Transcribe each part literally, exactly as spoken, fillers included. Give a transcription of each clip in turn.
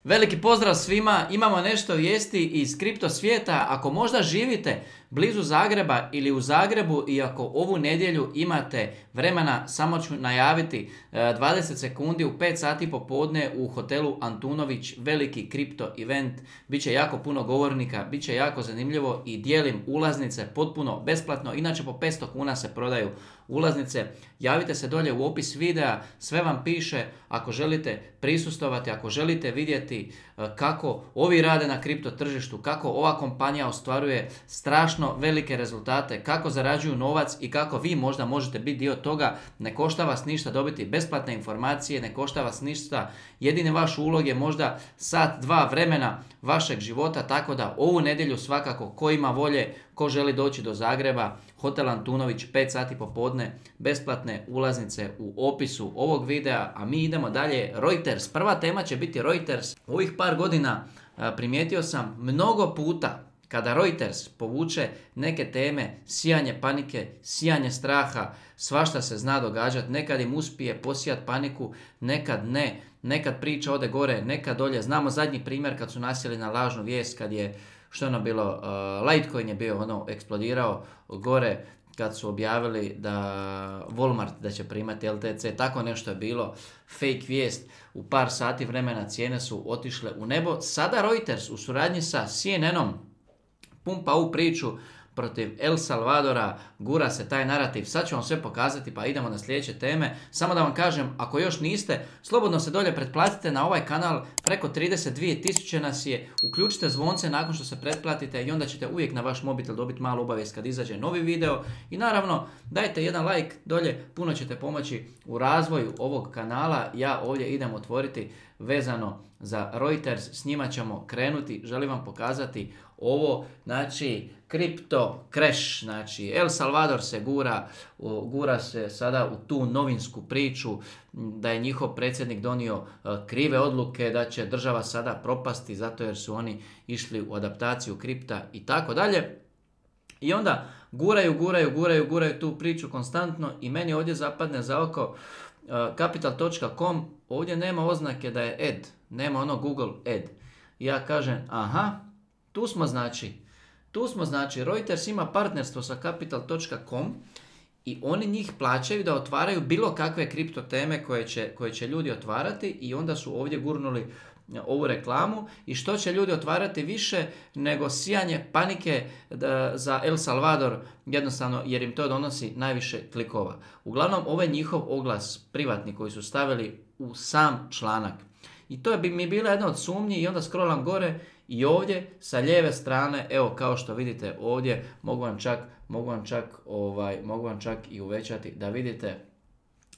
Veliki pozdrav svima, imamo nešto vijesti iz kripto svijeta. Ako možda živite blizu Zagreba ili u Zagrebu i ako ovu nedjelju imate vremena, samo ću najaviti dvadeset sekundi u pet sati popodne u hotelu Antunović, veliki kripto event. Biće jako puno govornika, bit će jako zanimljivo i dijelim ulaznice potpuno besplatno. Inače po petsto kuna se prodaju ulaznice. Javite se dolje u opis videa, sve vam piše. Ako želite prisustvovati, ako želite vidjeti kako ovi rade na kripto tržištu, kako ova kompanija ostvaruje strašno velike rezultate, kako zarađuju novac i kako vi možda možete biti dio toga, ne košta vas ništa dobiti besplatne informacije, ne košta vas ništa. Jedini vaš ulog je možda sat, dva vremena vašeg života, tako da ovu nedjelju svakako ko ima volje, ko želi doći do Zagreba, hotel Antunović, pet sati popodne, besplatne ulaznice u opisu ovog videa, a mi idemo dalje. Reuters, prva tema će biti Reuters. U ovih par godina primijetio sam mnogo puta kada Reuters povuče neke teme, sijanje panike, sijanje straha, svašta se zna događati, nekad im uspije posijati paniku, nekad ne, nekad priča ode gore, nekad dolje. Znamo zadnji primjer kad su nasjeli na lažnu vijest, kad je, što je ono bilo, uh, Litecoin je bio ono eksplodirao gore, kad su objavili da Walmart da će primati L T C, tako nešto je bilo, fake vijest, u par sati vremena cijene su otišle u nebo. Sada Reuters u suradnji sa C N N-om pumpa ovu priču protiv El Salvadora, gura se taj narativ. Sad ću vam sve pokazati, pa idemo na sljedeće teme. Samo da vam kažem, ako još niste, slobodno se dolje pretplatite na ovaj kanal, preko trideset dvije tisuće nas je. Uključite zvonce nakon što se pretplatite i onda ćete uvijek na vaš mobitel dobiti malu obavijest kad izađe novi video. I naravno, dajte jedan like dolje, puno ćete pomoći u razvoju ovog kanala. Ja ovdje idem otvoriti vezano za Reuters, s njima ćemo krenuti. Želim vam pokazati ovo, znači kripto crash, znači El Salvador se gura, gura se sada u tu novinsku priču da je njihov predsjednik donio krive odluke, da će država sada propasti zato jer su oni išli u adaptaciju kripta i tako dalje. I onda guraju, guraju, guraju, guraju tu priču konstantno i meni ovdje zapadne za oko capital točka com, ovdje nema oznake da je ad, nema ono Google ad. Ja kažem, aha, tu smo znači, tu smo znači, Reuters ima partnerstvo sa capital točka com i oni njih plaćaju da otvaraju bilo kakve kripto teme koje će, koje će ljudi otvarati i onda su ovdje gurnuli ovu reklamu. I što će ljudi otvarati više nego sijanje panike da, za El Salvador, jednostavno jer im to donosi najviše klikova. Uglavnom, ovo je njihov oglas privatni koji su stavili u sam članak. I to bi mi bila jedna od sumnji i onda scrollam gore i ovdje sa lijeve strane, evo kao što vidite ovdje, mogu vam čak, mogu vam čak, ovaj, mogu vam čak i uvećati da vidite.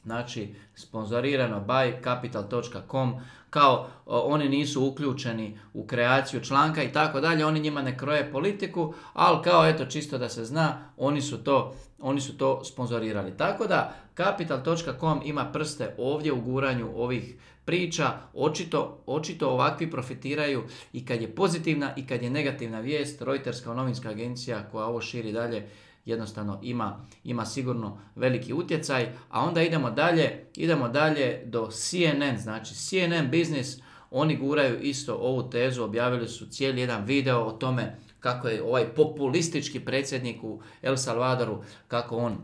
Znači, sponzorirano by capital točka com, kao o, oni nisu uključeni u kreaciju članka i tako dalje, oni njima ne kroje politiku, ali kao eto čisto da se zna, oni su to, oni su to sponzorirali. Tako da capital točka com ima prste ovdje u guranju ovih priča, očito, očito ovakvi profitiraju i kad je pozitivna i kad je negativna vijest. Reuters kao novinska agencija koja ovo širi dalje, jednostavno ima, ima sigurno veliki utjecaj. A onda idemo dalje, idemo dalje do C N N, znači C N N Business, oni guraju isto ovu tezu, objavili su cijeli jedan video o tome kako je ovaj populistički predsjednik u El Salvadoru, kako on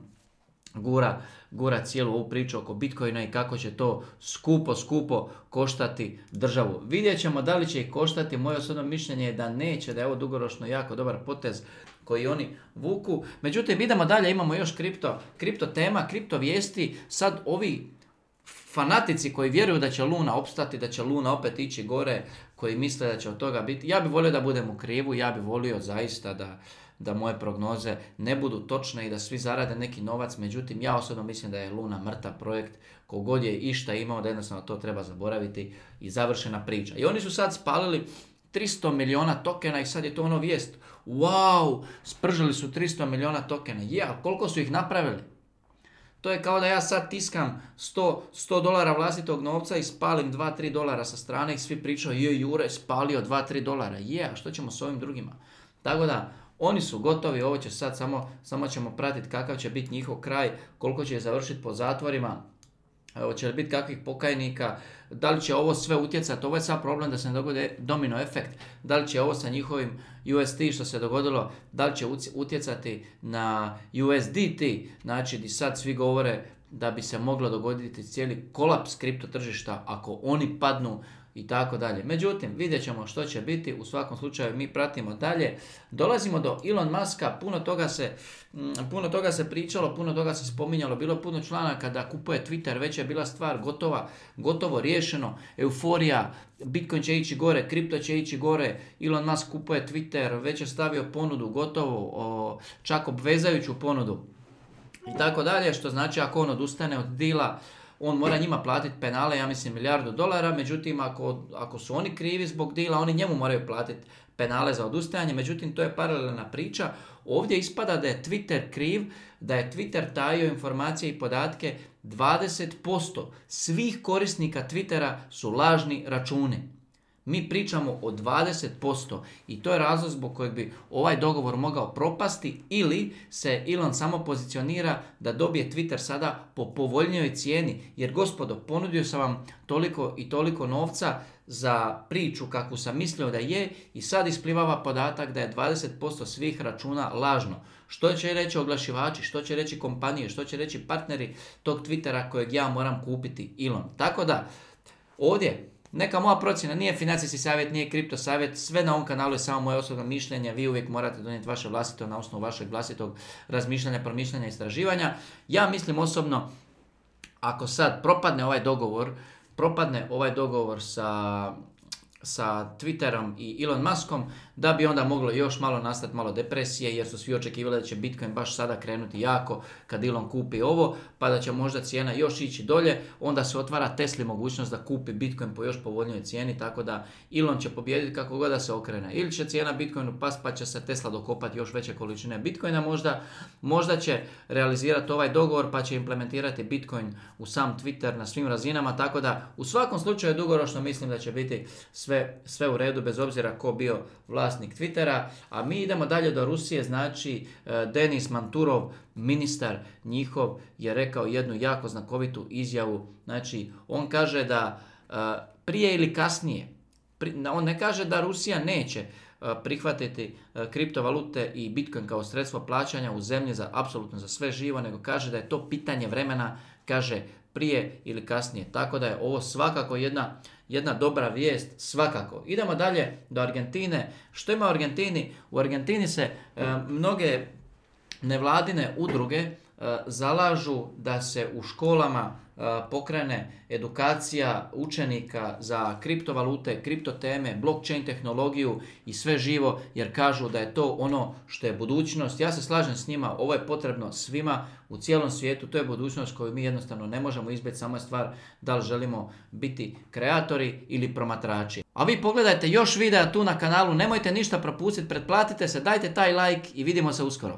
gura, gura cijelu ovu priču oko Bitcoina i kako će to skupo, skupo koštati državu. Vidjet ćemo da li će ih koštati, moje osobno mišljenje je da neće, da je ovo dugoročno jako dobar potez koji oni vuku. Međutim, idemo dalje, imamo još kripto, kripto tema, kripto vijesti. Sad ovi fanatici koji vjeruju da će Luna opstati, da će Luna opet ići gore, koji misle da će od toga biti, ja bih volio da budem u krivu, ja bih volio zaista da da moje prognoze ne budu točne i da svi zarade neki novac, međutim ja osobno mislim da je Luna mrtav projekt, kogod je išta imao, da jednostavno to treba zaboraviti i završena priča. I oni su sad spalili tristo milijuna tokena i sad je to ono vijest, wow, spržili su tristo milijuna tokena, je, yeah, koliko su ih napravili? To je kao da ja sad tiskam sto dolara vlastitog novca i spalim dva tri dolara sa strane i svi pričaju, je, Jure spalio dva tri dolara, je, yeah, a što ćemo s ovim drugima? Tako da, oni su gotovi, ovo će sad samo, samo ćemo pratiti kakav će biti njihov kraj, koliko će završiti po zatvorima. hoće li biti kakvih pokajnika, da li će ovo sve utjecati, ovo je sad problem da se ne dogode domino efekt, da li će ovo sa njihovim U S D što se dogodilo, da li će utjecati na U S D T, znači di sad svi govore da bi se moglo dogoditi cijeli kolaps kripto tržišta ako oni padnu i tako dalje. Međutim, vidjet ćemo što će biti, u svakom slučaju mi pratimo dalje. Dolazimo do Elon Muska, puno toga se, puno toga se pričalo, puno toga se spominjalo, bilo puno članaka da kupuje Twitter, već je bila stvar gotova, gotovo riješeno, euforija, Bitcoin će ići gore, kripto će ići gore, Elon Musk kupuje Twitter, već je stavio ponudu, gotovo, o, čak obvezajuću ponudu i tako dalje, što znači ako on odustane od dila, on mora njima platiti penale, ja mislim milijardu dolara, međutim ako, ako su oni krivi zbog dila, oni njemu moraju platiti penale za odustajanje, međutim to je paralelna priča. Ovdje ispada da je Twitter kriv, da je Twitter tajio informacije i podatke, dvadeset posto svih korisnika Twittera su lažni računi. Mi pričamo o dvadeset posto i to je razlog zbog kojeg bi ovaj dogovor mogao propasti ili se Elon samo pozicionira da dobije Twitter sada po povoljnijoj cijeni. Jer gospodo, ponudio sam vam toliko i toliko novca za priču kakvu sam mislio da je i sad isplivava podatak da je dvadeset posto svih računa lažno. Što će reći oglašivači, što će reći kompanije, što će reći partneri tog Twittera kojeg ja moram kupiti Elon. Tako da, ovdje neka moja procjena nije financijski savjet, nije kripto savjet, sve na ovom kanalu je samo moje osobno mišljenje, vi uvijek morate donijeti vaše vlastito na osnovu vašeg vlastitog razmišljanja, promišljanja i istraživanja. Ja mislim osobno, ako sad propadne ovaj dogovor, propadne ovaj dogovor sa, sa Twitterom i Elon Muskom, da bi onda moglo još malo nastati malo depresije, jer su svi očekivali da će Bitcoin baš sada krenuti jako kad Elon kupi ovo, pa da će možda cijena još ići dolje, onda se otvara Tesli mogućnost da kupi Bitcoin po još povoljnijoj cijeni, tako da Elon će pobijediti kako god da se okrene. Ili će cijena Bitcoinu past pa će se Tesla dokopati još veće količine Bitcoina, možda, možda će realizirati ovaj dogovor pa će implementirati Bitcoin u sam Twitter na svim razinama, tako da u svakom slučaju dugoročno mislim da će biti sve, sve u redu bez obzira ko bio vlasnik Twittera, a mi idemo dalje do Rusije, znači Denis Manturov, ministar njihov, je rekao jednu jako znakovitu izjavu, znači on kaže da prije ili kasnije, on ne kaže da Rusija neće prihvatiti kriptovalute i Bitcoin kao sredstvo plaćanja u zemlji za apsolutno za sve živo, nego kaže da je to pitanje vremena, kaže prije ili kasnije. Tako da je ovo svakako jedna, jedna dobra vijest, svakako. Idemo dalje do Argentine. Što ima u Argentini? U Argentini se e, mnoge nevladine udruge e, zalažu da se u školama e, pokrene edukacija učenika za kriptovalute, kriptoteme, blockchain tehnologiju i sve živo, jer kažu da je to ono što je budućnost. Ja se slažem s njima, ovo je potrebno svima u cijelom svijetu, to je budućnost koju mi jednostavno ne možemo izbjeći, samo je stvar da li želimo biti kreatori ili promatrači. A vi pogledajte još videa tu na kanalu, nemojte ništa propustiti, pretplatite se, dajte taj like i vidimo se uskoro.